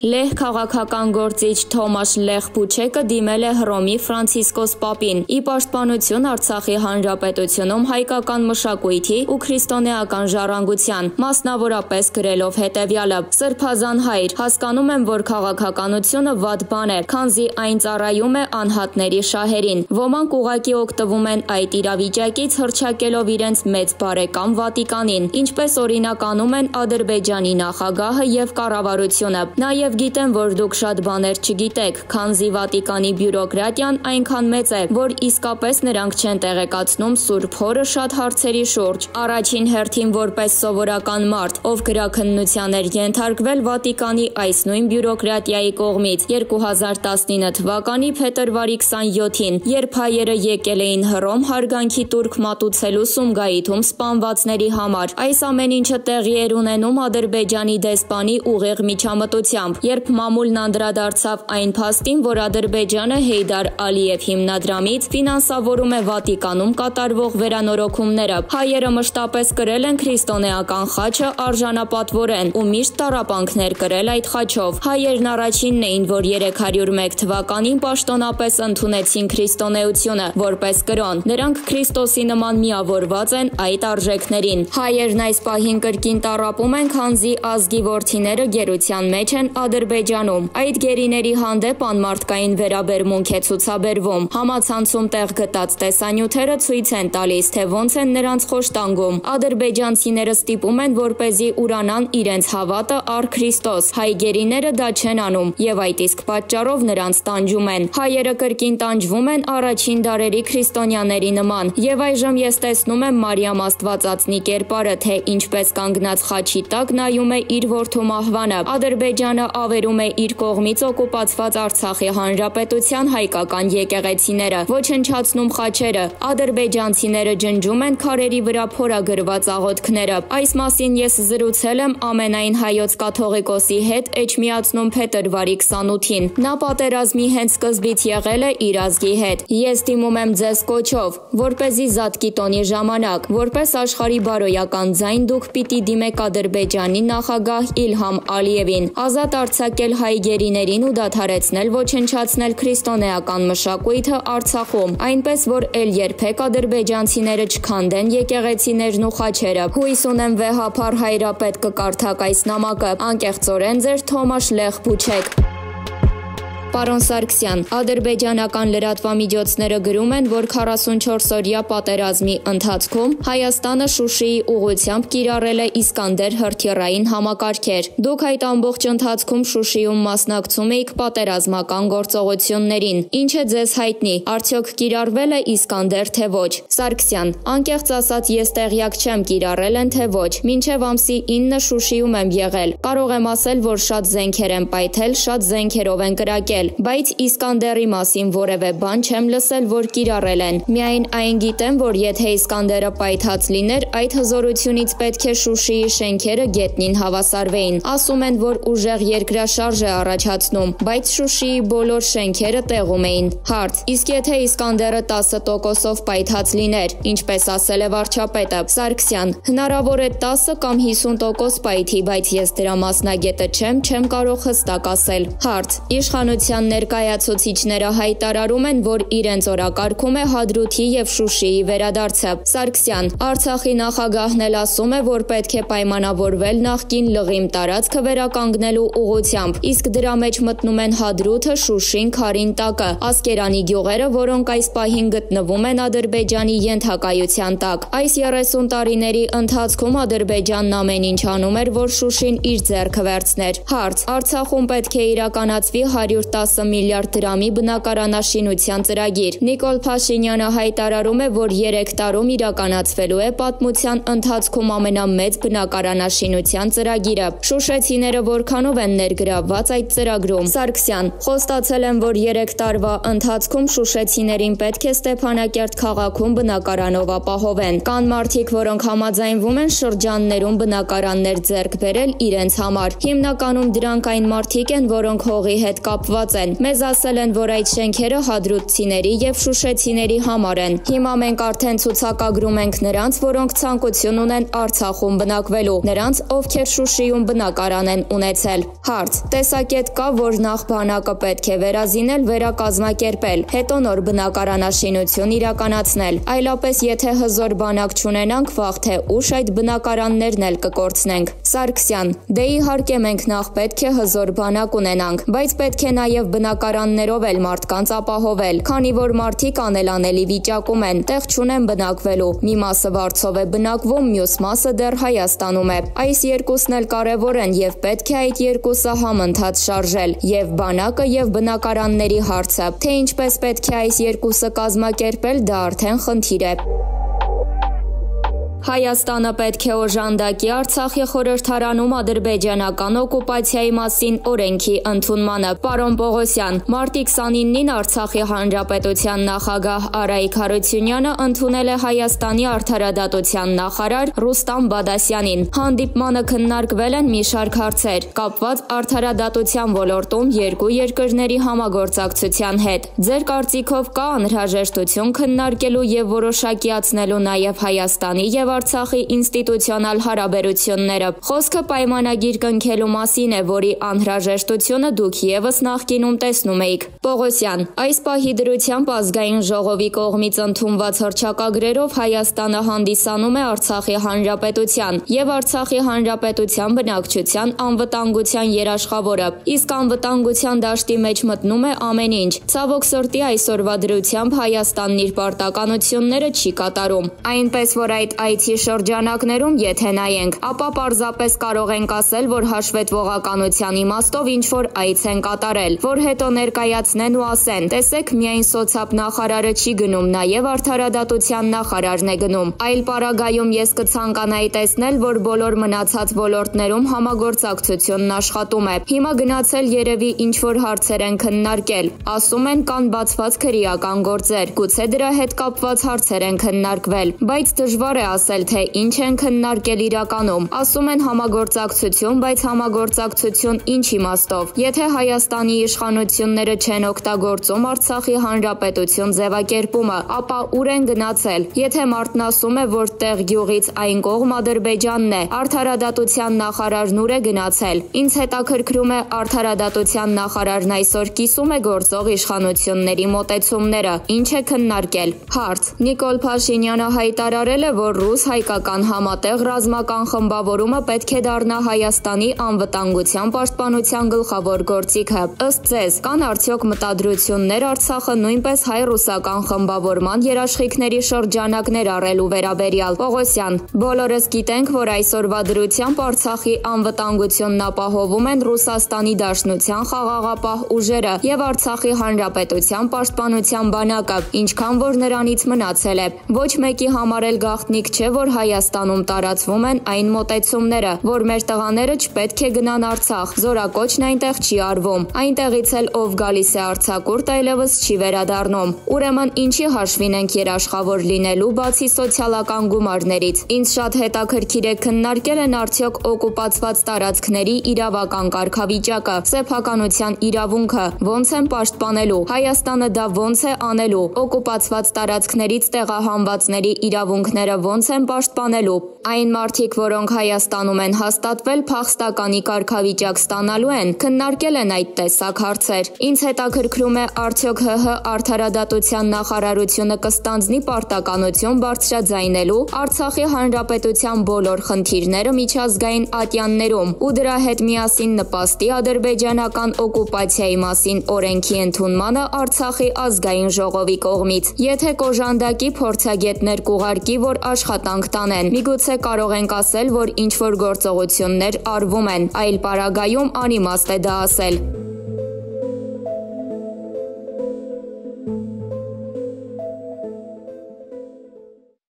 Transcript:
Լեհ քաղաքական գործիչ Թոմաշ Լեխ Փուչեկը դիմել է Հռոմի Ֆրանցիսկոս Պապին՝ ի պաշտպանություն Արցախի հանրապետությունում հայկական մշակույթի ու քրիստոնեական ժառանգության, մասնավորապես գրելով հետևյալը. «Սրբազան հայր, հասկանում եմ, որ քաղաքականությունը վատ բան է, քանզի այն ծառայում է անհատների շահերին։ Ոմանք ուղղակի օգտվում են այդ իրավիճակից հռչակելով իրենց մեծ բարեկամ Վատիկանին, ինչպես օրինակ անում են Ադրբեջանի նախագահը եւ կառավարությունը։ Նաև գիտեմ, որ դուք շատ բաներ չգիտեք, քանզի Վատիկանի բյուրոկրատիան այնքան մեծ է, որ իսկապես նրանք չեն տեղեկացնում Սուրբ Հորը շատ հարցերի շուրջ։ Առաջին հերթին որպես սովորական մարդ, ով գրաքննության էր ենթարկվել Վատիկանի այս նույն բյուրոկրատիայի կողմից 2019 թվականի փետրվարի 27-ին, երբ հայերը եկել էին Հռոմ հարգանքի տուրք մատուցելու Սումգայիթում սպանվածների համար, այս ամեն ինչը տեղի էր ունենում Ադրբեջանի դեսպանի ուղիղ միջամտությամբ, երբ մամուլն անդրադարձավ այն փաստին, որ Ադրբեջանը Հեյդար Ալիև հիմնադրամից ֆինանսավորում է Վատիկանում կատարվող վերանորոգումները, հայերը մշտապես կրել են քրիստոնեական խաչը արժանապատվորեն ու միշտ տառապանքներ կրել այդ խաչով։ Հայերն առաջինն էին, որ 301 թվականին պաշտոնապես ընդունեցին քրիստոնեությունը որպես կրոն։ Նրանք Քրիստոսի նման միավորված են այդ արժեքներին։ Հայերն այս պահին կրկին տառապում են, քանզի ազգի որդիները գերության մեջ են Ադրբեջանում։ Այդ գերիների հանդեպ անմարդկային վերաբերմունք է ցուցաբերվում։ Համացանցում տեղ գտած տեսանյութերը ցույց են տալիս, թե ոնց են նրանց խոշտանգում։ Ադրբեջանցիները ստիպում են, որպեսզի ուրանան իրենց հավատը առ Քրիստոս։ Հայ գերիները դա չեն անում եւ այդ իսկ պատճառով նրանց տանջում են։ Հայերը կրկին տանջվում են առաջին դարերի քրիստոնյաների նման։ Եվ այժմ ես տեսնում եմ Մարիամ Աստվածածնի կերպարը, թե ինչպես կանգնած խաչի տակ նայում է իր որդու մահվանը։ Ադրբեջանը ավերում է իր կողմից օկուպացված Արցախի հանրապետության հայկական եկեղեցիները, ոչնչացնում խաչերը։ Ադրբեջանցիները ջնջում են քարերի վրա փորագրված աղոթքները։ Այս մասին ես զրուցել եմ ամենայն հայոց կաթողիկոսի հետ Էջմիածնում փետրվարի 28-ին։ Նա պատերազմի հենց սկզբից եղել է իր ազգի հետ։ Ես դիմում եմ ձեզ կոչով, որպեսզի Զատկի տոնի ժամանակ, որպես աշխարհի բարոյական ձայն դուք պիտի դիմեք Ադրբեջանի նախագահ Իլհամ Ալիևին, ազատ արձակել հայ գերիներին ու դադարեցնել ոչնչացնել քրիստոնեական մշակույթը Արցախում, այնպես որ էլ երբեք ադրբեջանցիները չքանդեն եկեղեցիներն ու խաչերը։ Հույս ունեմ վեհափառ հայրապետ կկարդաք այս նամակը։ Անկեղծորեն ձեր Թոմաշ Լեխ Փուչեք։ Պարոն Սարգսյան, ադրբեջանական լրատվամիջոցները գրում են, որ 44-օրյա պատերազմի ընթացքում Հայաստանը Շուշիի ուղղությամբ կիրառել է Իսկանդեր հրթիռային համակարգեր։ Դուք այդ ամբողջ ընթացքում Շուշիում մասնակցում էիք պատերազմական գործողություններին։ Ինչ է ձեզ հայտնի, արդյոք կիրառվել է Իսկանդեր թե ոչ։ Սարգսյան, անկեղծ ասած ես տեղյակ չեմ կիրառել են թե ոչ։ Մինչև ամսի 9 Շուշիում եմ եղել։ Կարող եմ ասել, որ շատ զենքեր են պայթել, շատ զենքերով են կրակել, բայց Իսկանդերի մասին որևէ բան չեմ լսել, որ կիրառել են։ Միայն այն գիտեմ, որ եթե Իսկանդերը պայթած լիներ, այդ հզորությունից պետք է Շուշիի շենքերը գետնին հավասարվեին։ Ասում են, որ ուժեղ երկրաշարժ է առաջացնում, բայց Շուշիի բոլոր շենքերը տեղում էին։ Հարց. իսկ եթե Իսկանդերը 10%-ով պայթած լիներ, ինչպես ասել է վարչապետը։ Սարգսյան, հնարավոր է 10 կամ 50% պայթի, բայց ես դրա մասնագետը չեմ կարող հստակ ասել։ Հարց. իշխանության ներկայացուցիչները հայտարարում են, որ իրենց օրակարգում է Հադրութի եւ Շուշիի վերադարձը։ Սարգսյան, Արցախի նախագահն էլ ասում է, որ պետք է պայմանավորվել նախկին լղիմ տարածքը վերականգնելու ուղղությամբ, իսկ դրա մեջ մտնում են Հադրութը, Շուշին, Քարինտակը, Ասկերանի գյուղերը, որոնք այս պահին գտնվում են Ադրբեջանի ենթակայության տակ։ Այս 30 տարիների ընթացքում Ադրբեջանն ամեն ինչ անում էր, որ Շուշին իր ձեռքը վերցներ։ Հարց. Արցախում պետք է իրականացվի 110 միլիարդ դրամի բնակարանաշինության ծրագիր։ Նիկոլ Փաշինյանը հայտարարում է, որ 3 տարում իրականացվելու է պատմության ընթացքում ամենամեծ բնակարանաշինության ծրագիրը։ Շուշեցիները որքանով են ներգրավված այդ ծրագրում։ Սարգսյան, խոստացել են, որ 3 տարվա ընթացքում շուշեցիներին պետք է Ստեփանակերտ քաղաքում բնակարանով ապահովեն։ Կան մարդիկ, որոնք համաձայնվում են շրջաններում բնակարաններ ձեռք բերել իրենց համար։ Հիմնականում դրանք այն մարդիկ են, որոնք հողի հետ կապված ասված են. «Մեզ ասել են, որ այդ շենքերը հադրութցիների եւ շուշեցիների համար են։ Հիմա մենք արդեն ցուցակագրում ենք նրանց, որոնք ցանկություն ունեն Արցախում բնակվելու, նրանց, ովքեր Շուշիում բնակարան են ունեցել»։ Հարց. Տեսակետ կա, որ նախ բանակը պետք է վերազինել, վերակազմակերպել, հետո նոր բնակարանաշինություն իրականացնել, այլապես եթե հզոր բանակ չունենանք, վաղ թե ուշ այդ բնակարաններն էլ կկորցնենք։ Սարգսյան. Դե իհարկե մենք նախ պետք է հզոր բանակ ունենանք, բայց պետք է նաև բնակարաններով էլ մարդկանց ապահովել, քանի որ մարդիկ անելանելի վիճակում են, տեղ չունեն բնակվելու, մի մասը վարձով է բնակվում, մյուս մասը դեռ Հայաստանում է։ Այս երկուսն էլ կարևոր են եւ պետք է այդ երկուսը համընթաց շարժել, եւ բանակը եւ բնակարանների հարցը, թե ինչպես պետք է այս երկուսը կազմակերպել, դա արդեն խնդիր է։ Հայաստանը պետք է օժանդակի Արցախի խորհրդարանում ադրբեջանական օկուպացիայի մասին օրենքի ընդունմանը։ Պարոն Պողոսյան, մարտի 29-ին Արցախի հանրապետության նախագահ Արայիկ Հարությունյանը ընդունել է Հայաստանի արդարադատության նախարար Ռուստամ Բադասյանին։ Հանդիպմանը քննարկվել են մի շարք հարցեր, կապված արդարադատության ոլորտում երկու երկրների համագործակցության հետ։ Ձեր կարծիքով կա անհրաժեշտություն քննարկելու եւ որոշակիացնելու նաեւ Հայաստանի եւ Արցախի ինստիտուցիոնալ հարաբերությունները։ Խոսքը պայմանագիր կնքելու մասին է, որի անհրաժեշտությունը դուք եւս նախկինում տեսնում էիք։ Պողոսյան. Այս պահի դրությամբ ազգային ժողովի կողմից ընդունված հռչակագրերով Հայաստանը հանդիսանում է Արցախի հանրապետության եւ Արցախի հանրապետության բնակչության անվտանգության երաշխավորը, իսկ անվտանգության դաշտի մեջ մտնում է ամեն ինչ։ Ցավոք սրտի այսօրվա դրությամբ Հայաստանն իր պարտականությունները չի կատարում։ Այնպես որ այդ շրջանակներում եթե նայենք, ապա պարզապես կարող ենք ասել, որ հաշվետվողականության իմաստով ինչ-որ այց են կատարել, որ հետո ներկայացնեն ու ասեն, տեսեք, միայն սոցապ նախարարը չի գնում, նաև արդարադատության նախարարն է գնում։ Այլ պարագայում ես կցանկանայի տեսնել, որ բոլոր մնացած ոլորտներում համագործակցությունն աշխատում է։ Հիմա գնացել երևի ինչ-որ հարցեր են քննարկել, ասում են կան բացված քրեական գործեր, գուցե դրա հետ կապված հարցեր են քննարկվել, բայց դժվար է ասել, թե ինչ են քննարկել իրականում։ Ասում են համագործակցություն, բայց համագործակցություն ինչ իմաստով։ Եթե Հայաստանի իշխանությունները չեն օգտագործում Արցախի հանրապետություն ձևակերպումը, ապա ուր են գնացել։ Եթե մարդն ասում է, որ տեղ գյուղից այն կողմ Ադրբեջանն է, արդարադատության նախարարն ուր է գնացել։ Ինձ հետաքրքրում է արդարադատության նախարարն այսօր կիսում է գործող իշխանությունների մոտեցումները, ինչ է քննարկել։ Հարց. Նիկոլ Փաշինյանը հայտարարել է, որ ռուս-հայկական համատեղ ռազմական խմբավորումը պետք է դառնա Հայաստանի անվտանգության պաշտպանության գլխավոր գործիքը։ Ըստ ձեզ, կան արդյոք մտադրություններ Արցախը նույնպես հայ-ռուսական խմբավորման երաշխիքների շրջանակներ առելու վերաբերյալ։ Պողոսյան. Բոլորս գիտենք, որ այսօրվա դրությամբ Արցախի անվտանգությունն ապահովում են Ռուսաստանի Դաշնության խաղաղապահ ուժերը եւ Արցախի հանրապետության պաշտպանության բանակը, ինչքան որ նրանից մնացել է։ Ոչ մեկի համար էլ գաղտնիք չէ, որ Հայաստանում տարածվում են այն մոտեցումները, որ մեր տղաները չպետք է գնան Արցախ, զորակոչն այնտեղ չի արվում, այնտեղից էլ ով գալիս է արձակուրդ այլևս չի վերադառնում։ Ուրեմն ինչի հաշվին ենք երաշխավոր լինելու բացի սոցիալական գումարներից։ Ինձ շատ հետաքրքիր է քննարկել են արդյոք օկուպացված տարածքների իրավական կարգավիճակը, սեփականության իրավունքը, ոնց են պաշտպանելու, Հայաստանը դա ոնց է անելու, օկուպացված տարածքներից տեղահանվածների իրավունքները ոնց են պաշտպանելու։ Այն մարդիկ, որոնք Հայաստանում են հաստատվել, փախստականի կարգավիճակ ստանալու են, քննարկել են այդ տեսակ հարցեր։ Ինձ հետաքրքրում է արդյոք ՀՀ արդարադատության նախարարությունը կստանձնի պարտականություն բարձրաձայնելու Արցախի հանրապետության բոլոր խնդիրները միջազգային ատյաններում ու դրա հետ միասին նպաստի ադրբեջանական օկուպացիայի մասին օրենքի ընդունմանը Արցախի ազգային ժողովի կողմից։ Եթե կոժանդակի փորձագետներ կուղարկի, որ աշխատանք տանեն, միգուցե կարող ենք ասել, որ ինչ-որ գործողություններ արվում են, այլ պարագայում անիմաստ է դա ասել։